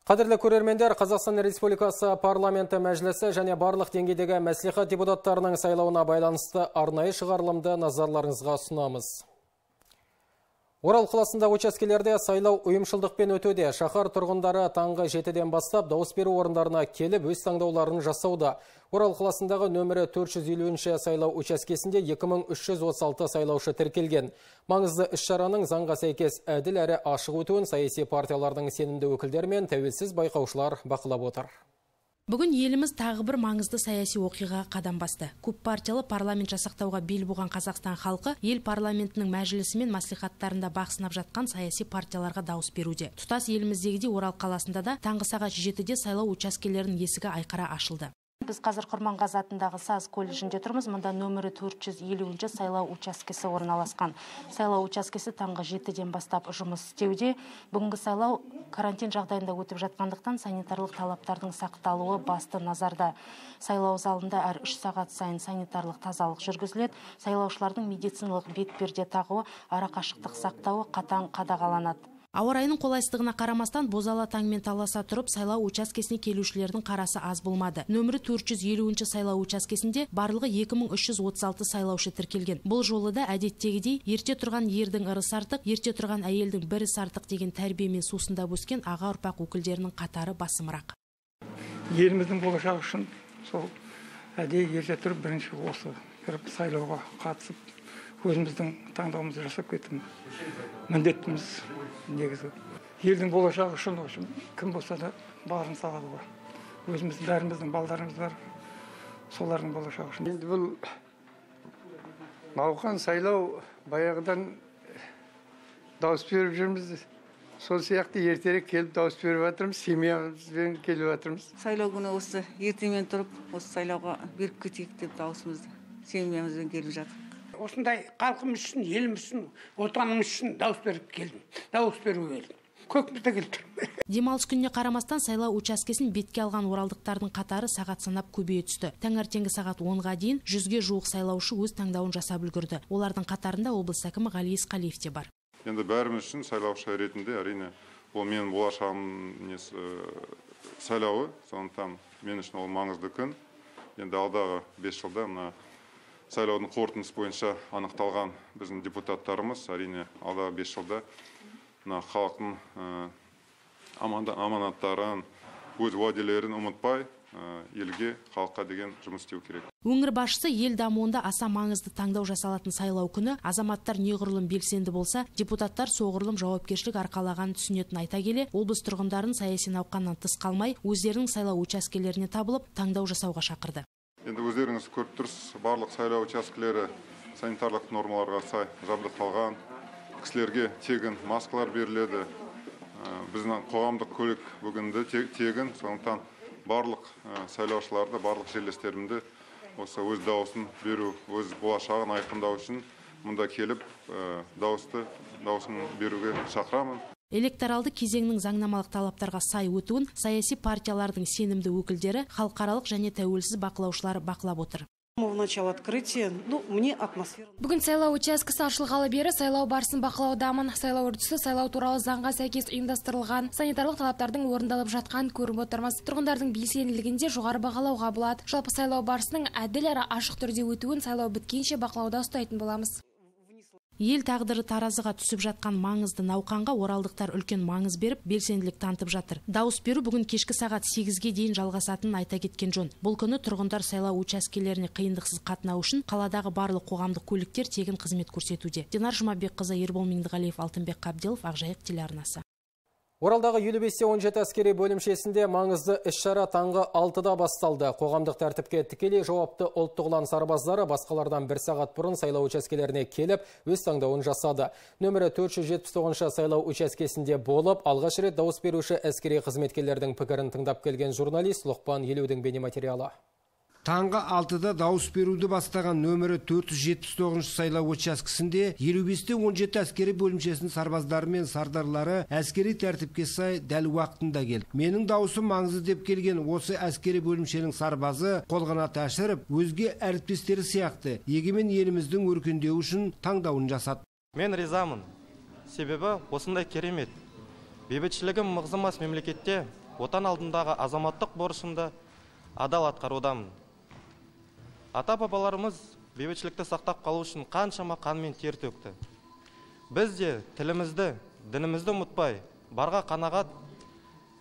Қадірлі көрермендер, Қазақстан Республикасы парламенті мәжілісі және барлық деңгейдегі мәслихат депутаттарының сайлауына байланысты арнайы шығарылымды назарларыңызға ұсынамыз. Орал қаласында учаскелерде сайлау ұйымшылдықпен өтуде. Шаһар тұрғындары таңғы 7-ден бастап дауыс беру орындарына келіп өз таңдауларын жасауда. Орал қаласындағы нөмірі 450 сайлау учаскесінде 2336 сайлаушы тіркелген. Маңызды іс-шараның заңға сәйкес әділ әрі ашық өтуін саяси партиялардың сенімді өкілдері мен тәуелсіз байқаушылар бақылап отыр. Бүгін еліміз тағы бір маңызды саяси оқиғаға қадам басты. Көп партиялы парламент жасақтауға бел буған Қазақстан халқы ел парламентінің мәжілісі мен маслихаттарында бақ сынап жатқан саяси партияларға дауыс беруде. Тұтас еліміздегідей Орал қаласында да таңғы сағат 7-де сайлау учаскелерінің есігі айқара ашылды. Біз қазір Құрманғазы атындағы САЗ колледжінде тұрмыз. Мұнда нөмірі 450 сайлау учаскесі орналасқан. Сайлау учаскесі таңғы 7-ден бастап жұмыс істеуде. Бүгінгі сайлау карантин жағдайында өтіп жатқандықтан санитарлық талаптардың сақталуы басты назарда. Сайлау залында әр 3 сағат сайын санитарлық тазалық жүргізіледі. Сайлаушылардың медициналық бетперде тағуы, арақашықтық сақтауы қатаң қадағаланады. Ауа райының қолайсыздығына қарамастан бозала таңмен таласа тұрып сайлау учаскесіне келушілердің қарасы аз болмады. Нөмірі 450 сайлау учаскесінде барлығы 2336 сайлаушы тіркелген. Бұл жолы да әдеттегідей ерте тұрған ердің ырысы артық, ерте тұрған әйелдің бір ісі артық деген тәрбиемен сусындап өскен аға ұрпақ өкілдерінің қатары басымырақ. Еліміздің болашағы үшін сол әдейі ерте тұрып бірінші осы кіріп сайлауға қатысып өзіміздің таңдауымызды жасап кетті. Міндетіміз негізі. Елдің болашағы үшін кім болса да барын салады ғой. Өзіміздің бәріміздің балдарымыз бар, солардың болашағы үшін. Енді бұл науқан сайлау баяғыдан дауыс беріп жүрміз. Сол сияқты ертерек келіп дауыс беріп жатырмыз, семьямызбен келіп жатырмыз. Сайлау күні осы ертемен тұрып, осы сайлауға беріп кетейік деп дауысымызды семьямызбен келіп жатыр. Осындай халқымыз үшін, еліміз үшін, отанымыз үшін дауыс беріп келдім. Дауыс беруге келдім. Көкмізде келдім. Демалыс күніне қарамастан сайлау учаскесін бетке алған оралдықтардың қатары сағат санап көбейе түсті. Таңертеңгі сағат 10-ға дейін 100-ге жуық сайлаушы өз таңдауын жасап үлгерді. Олардың қатарында облыс әкімі Ғали Есқалиев те бар. Енді бәріміз үшін сайлаушы ретінде әрине ол менің болашағым сайлауы, сондықтан мен үшін ол маңызды күн. Енді алдағы 5 жылда мына сайлаудың қорытындысы бойынша анықталған біздің депутаттарымыз әрине алдағы 5 жылда халықтың аманаттарын, өз уәделерін ұмытпай, елге, халыққа деген жұмыс істеу керек. Өңір басшысы ел дамуында аса маңызды таңдау жасалатын сайлау күні азаматтар неғұрлым белсенді болса, депутаттар соғұрлым жауапкершілік арқалаған түсінетін айта келе, облыс тұрғындарын саяси науқаннан тыс қалмай, өздерінің сайлау учаскелеріне табылып, таңдау жасауға шақырды. Енді өздеріңіз көріп тұрсыз, барлық сайлау учаскелері санитарлық нормаларға сай жабдықталған. Кісілерге тегін маскалар беріледі. Біздің қоғамдық көлік бүгінде тегін, сондықтан барлық сайлаушыларды, барлық жерлестерімді осы өз дауысын беру, өз болашағын айқындау үшін мұнда келіп дауысын беруге шақырамын. Электоралды кезеңнің заңнамалық талаптарға сай өтуін саяси партиялардың сенімді өкілдері, халықаралық және тәуелсіз бақылаушылар бақылап отыр. Бүгін сайлау учаскесі ашылғалы бері сайлау барысын бақылаудамын. Сайлау үрдісі сайлау туралы заңға сәйкес ұйымдастырылған, санитарлық талаптардың орындалып жатқан көріп отырмыз. Тұрғындардың белсенділігінде жоғары бағалауға болады. Жалпы сайлау барысының әділ әрі ашық түрде өтуін сайлау біткенше бақылауда ұстайтын боламыз. Ел тағдыры таразыға түсіп жатқан маңызды науқанға оралдықтар үлкен маңыз беріп, белсенділік танытып жатыр. Дауыс беру бүгін кешкі сағат 8-ге дейін жалғасатынын айта кеткен жөн. Бұл күні тұрғындар сайлау учаскелеріне қиындықсыз қатынау үшін қаладағы барлық қоғамдық көліктер тегін қызмет көрсетуде. Динар Жұмабекқызы, Ербол Меңдіғалиев, Алтынбек Қабделов, Ақжайық телеарнасы. Оралдағы 55-17 әскери бөлімшесінде маңызды іс-шара таңғы 6-да басталды. Қоғамдық тәртіпке тікелей жауапты ұлттық ұлан сарбаздары басқалардан 1 сағат бұрын сайлау учаскелеріне келіп, өз таңдауын жасады. Нөмірі 479 сайлау учаскесінде болып, алғаш рет дауыс беруші әскери қызметкерлердің пікірін тыңдап келген журналист Лұқпан Елеудің бейнематериалы. Таңғы 6-да дауыс беруді бастаған нөмірі 479 сайлау учаскесінде 55-17 әскери бөлімшесінің сарбаздары мен сардарлары әскери тәртіпке сай дәл уақытында келді. Менің дауысым маңызды деп келген осы әскери бөлімшенің сарбазы қолғанат ашырып, өзге әріптестері сияқты егемен еліміздің өркендеуі үшін таңдауын жасады. Мен ризамын. Себебі осындай керемет. Бейбітшілігім мығызымас мемлекетте отан алдындағы азаматтық борышымды адал атқарудамын. Ата-бабаларымыз бейбітшілікті сақтап қалу үшін қаншама қан мен тер төкті. Біз де тілімізді, дінімізді ұмытпай, барға қанағат,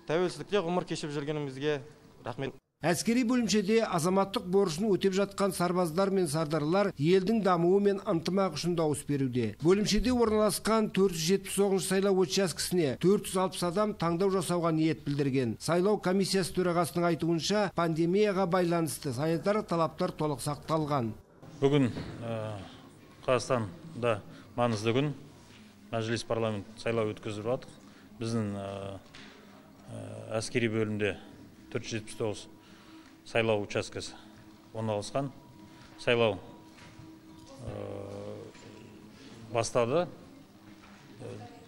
тәуелсіздікте ғұмыр кешіп жүргенімізге рахмет. Әскери бөлімшеде азаматтық борышын өтеп жатқан сарбаздар мен сардарлар елдің дамуы мен ынтымақ үшін дауыс беруде. Бөлімшеде орналасқан 479 сайлау учаскесіне 460 адам таңдау жасауға ниет білдірген. Сайлау комиссиясы төрағасының айтуынша, пандемияға байланысты санитарлық талаптар толық сақталған. Бүгін Қазақстанда маңызды күн, мәжіліс парламент сайлау өткізіп жатыр. Біздің әскери бөлімде 479 сайлау учаскесі орналасқан. Сайлау бастады,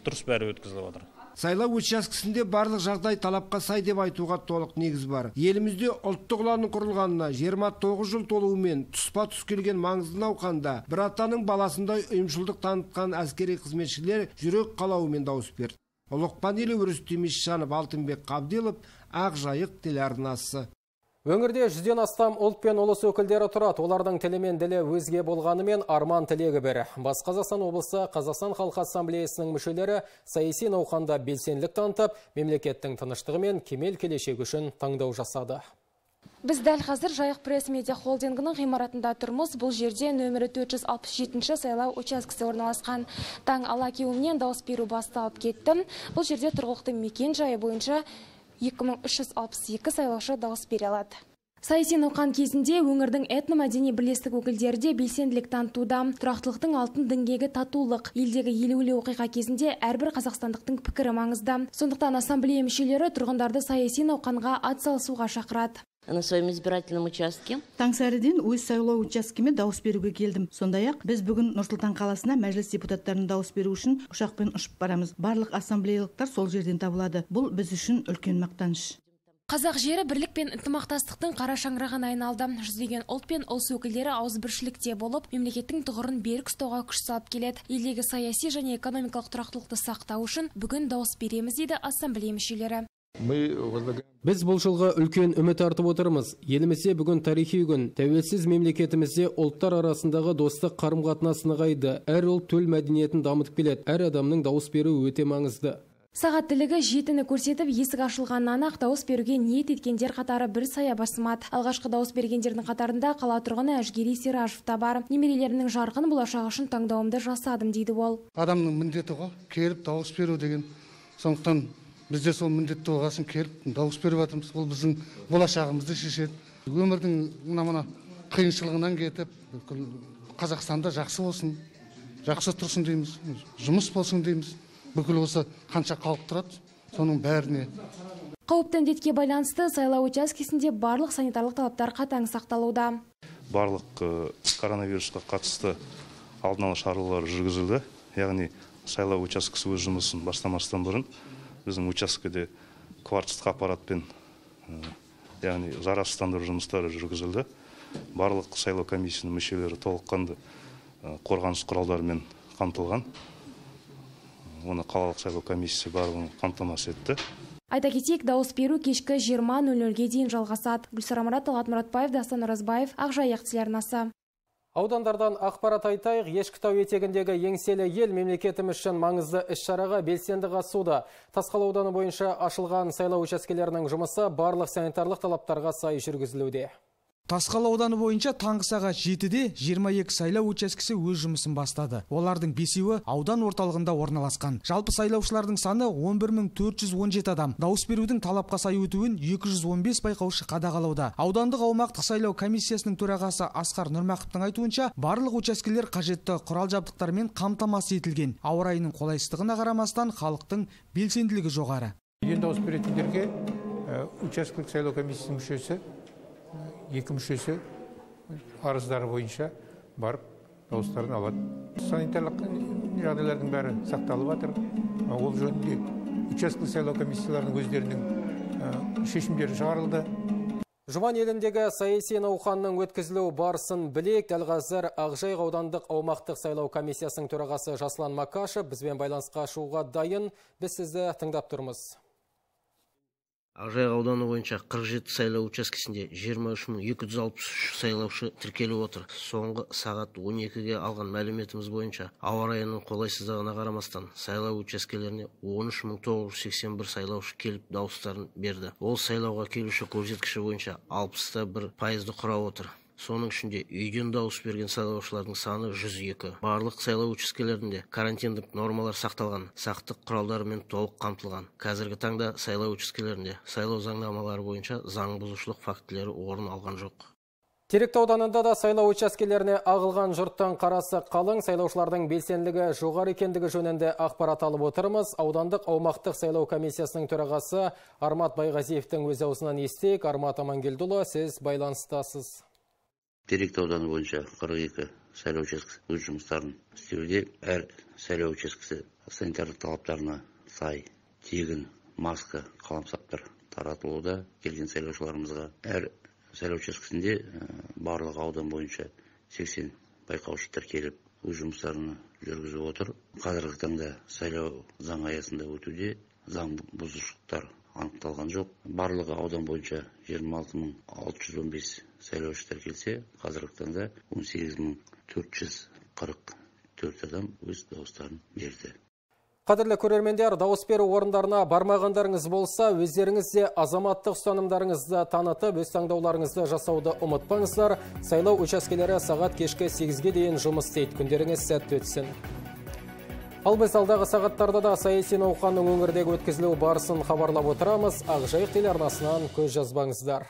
дұрыс бәрі өткізіліп жатыр. Сайлау учаскесінде барлық жағдай талапқа сай деп айтуға толық негіз бар. Елімізде ұлттық ұланның құрылғанына 29 жыл толуымен тұспа-тұс келген маңызды науқанда бір атаның баласындай ұйымшылдық танытқан әскери қызметшілер жүрек қалауымен дауыс берді. Ұлықпан елі Өрістем Исжанов, Алтынбек Қабделов, Ақ Жайық телеарнасы. Өңірде 100-ден астам ұлт пен ұлыс өкілдері тұрады. Олардың тілі мен ділі өзге болғанымен арман тілегі бір. Батыс Қазақстан облысы Қазақстан Халқы Ассамблеясының мүшелері саяси науқанда белсенділік танытып, мемлекеттің тыныштығы мен кемел келешегі үшін таңдау жасады. Біз дәл қазір Жайық пресс-медиа холдингінің ғимаратында тұрмыз. Бұл жерде нөмірі 467 сайлау учаскесі орналасқан. Таң ала кеуімнен дауыс беру басталып кетті. Бұл жерде тұрғылықты мекен жайы бойынша 2362 сайлаушы дауыс бере алады. Саяси науқан кезінде өңірдің этномәдени бірлестік өкілдері де белсенділік танытуда. Тұрақтылықтың алтын діңгегі татулық. Елдегі елеулі оқиға кезінде әрбір қазақстандықтың пікірі маңызды. Сондықтан ассамблея мүшелері тұрғындарды саяси науқанға атсалысуға шақырады. На своем избирательном участке. Таңсәріден өз сайлау учаскеме дауыс беруге келдім. Сондай-ақ біз бүгін Нұр-Сұлтан қаласына мәжіліс депутаттарының дауыс беру үшін ұшақпен ұшып барамыз. Барлық ассамблеялықтар сол жерден табылады. Бұл біз үшін үлкен мақтаныш. Қазақ жері бірлік пен ынтымақтастықтың қара шаңырағына айналды. Жүздеген ұлт пен ұлыс өкілдері ауызбіршілікте болып, мемлекеттің тұғырын берік ұстауға күш салып келеді. Елдегі саяси және экономикалық тұрақтылықты сақтау үшін бүгін дауыс береміз дейді ассамблея мүшелері. Біз бұл жылға үлкен үміт артып отырмыз. Елімізде бүгін тарихи күн. Тәуелсіз мемлекетімізде ұлттар арасындағы достық қарым-қатынас нығайды. Әр ұлт төл мәдениетін дамытып келеді. Әр адамның дауыс беруі өте маңызды. Сағат тілігі жетіні көрсетіп, есік ашылғаннан ақ дауыс беруге ниет еткендер қатары бір сая басымады. Алғашқы дауыс бергендердің қатарында қала тұрғыны Әжгери Серажев та бар. Немерелерінің жарқын болашағы үшін таңдауымды жасадым дейді ол. Адамның міндеті ғой, келіп дауыс беру деген. Сондықтан бізде сол міндетті болғасын келіп дауыс беріп жатырмыз. Ол біздің болашағымызды шешеді. Өмірдің мына қиыншылығынан кетіп, Қазақстанда жақсы болсын, жақсы тұрсын дейміз, жұмыс болсын дейміз. Бүкіл осы қанша халық тұрады, соның бәріне. Қауіпті індетке байланысты сайлау учаскесінде барлық санитарлық талаптар қатаң сақталуда. Барлық коронавирусқа қатысты алдын ала шаралар жүргізілді. Яғни сайлау учаскесі өз жұмысын бастамастан бұрын біздің учаскеде кварцтық аппаратпен, яғни зарарсыздандыру жұмыстары жүргізілді. Барлық сайлау комиссиясының мүшелері толыққанды қорғаныс құралдарымен қамтылған. Оны қалалық сайлау комиссиясы барлығын қамтамасыз етті. Айта кетейік, дауыс беру кешкі 20:00-ге дейін жалғасады. Гүлсара Марат, Талғат Мұратбаев, Дастан Оразбаев, Ақ Жайық телеарнасы. Аудандардан ақпарат айтайық. Ешкітау етегіндегі еңселі ел мемлекетіміз үшін маңызды іс-шараға белсенді қатысуда. Тасқала ауданы бойынша ашылған сайлау учаскелерінің жұмысы барлық санитарлық талаптарға сай жүргізілуде. Тасқала ауданы бойынша таңғы сағат 7-де 22 сайлау учаскесі өз жұмысын бастады. Олардың 5-еуі аудан орталығында орналасқан. Жалпы сайлаушылардың саны 11417 адам. Дауыс берудің талапқа сай өтуін 215 байқаушы қадағалауда. Аудандық аумақтық сайлау комиссиясының төрағасы Асқар Нұрмақовтың айтуынша, барлық учаскелер қажетті құрал жабдықтармен қамтамасыз етілген. Ауа райының қолайсыздығына қарамастан халықтың белсенділігі жоғары. Дауыс беретіндерге учаскелік сайлау комиссиясының мүшесі 2 мүшесі арыздары бойынша барып дауыстарын алады. Санитарлық жағдайлардың бәрі сақталып жатыр. Ол жөнінде учаскелік сайлау комиссияларының өздерінің шешімдері шығарылды. Жұман еліндегі саяси науқанның өткізілу барысын білек. Дәл қазір Ақжайық аудандық аумақтық сайлау комиссиясының төрағасы Жаслан Макашев бізбен байланысқа шығуға дайын. Біз сізді тыңдап тұрмыз. Ақжайық ауданы бойынша 47 сайлау учаскесінде 23.263 сайлаушы тіркеліп отыр. Соңғы сағат 12-ге алған мәліметіміз бойынша ауа райының қолайсыздығына қарамастан сайлау учаскелеріне 13.981 сайлаушы келіп дауыстарын берді. Ол сайлауға келуші көрсеткіші бойынша 61% құрап отыр. Соның ішінде үйден дауыс берген сайлаушылардың саны 102. Барлық сайлау учаскелерінде карантиндік нормалар сақталған, сақтық құралдарымен толық қамтылған. Қазіргі таңда сайлау учаскелерінде сайлау заңнамалары бойынша заң бұзушылық фактілері орын алған жоқ. Теректі ауданында да сайлау учаскелеріне ағылған жұрттан қарасы қалың, сайлаушылардың белсенділігі жоғары екендігі жөнінде ақпарат алып отырмыз. Аудандық аумақтық сайлау комиссиясының төрағасы Армат Байғазиевтің өз аузынан естейік. Армат Амангелдіұлы, сіз байланыстасыз. Теректі ауданы бойынша 42 сайлау учаскесі өз жұмыстарын істеуде. Әр сайлау учаскесі санитарлық талаптарына сай тегін маска, қаламсаптар таратылуда. Келген сайлаушыларымызға әр сайлау учаскесінде барлық аудан бойынша 80 байқаушылар келіп өз жұмыстарын жүргізіп отыр. Қазіргі таңда сайлау заң аясында өтуде, заң бұзушылықтар анықталған жоқ. Барлығы аудан бойынша 26.615 сайлаушы тіркелсе, қазіргі таңда 18.444 адам өз дауыстарын берді. Қадірлі көрермендер, дауыс беру орындарына бармағандарыңыз болса, өздеріңіз де азаматтық ұстанымдарыңызды танытып, өз таңдауларыңызды жасауды ұмытпаңыздар. Сайлау учаскелері сағат кешкі 8-ге дейін жұмыс істейді. Күндеріңіз сәтті өтсін. Ал біз алдағы сағаттарда да саяси науқанның өңірдегі өткізілу барысын хабарлап отырамыз. Ақжайық телеарнасынан көз жазбаңыздар.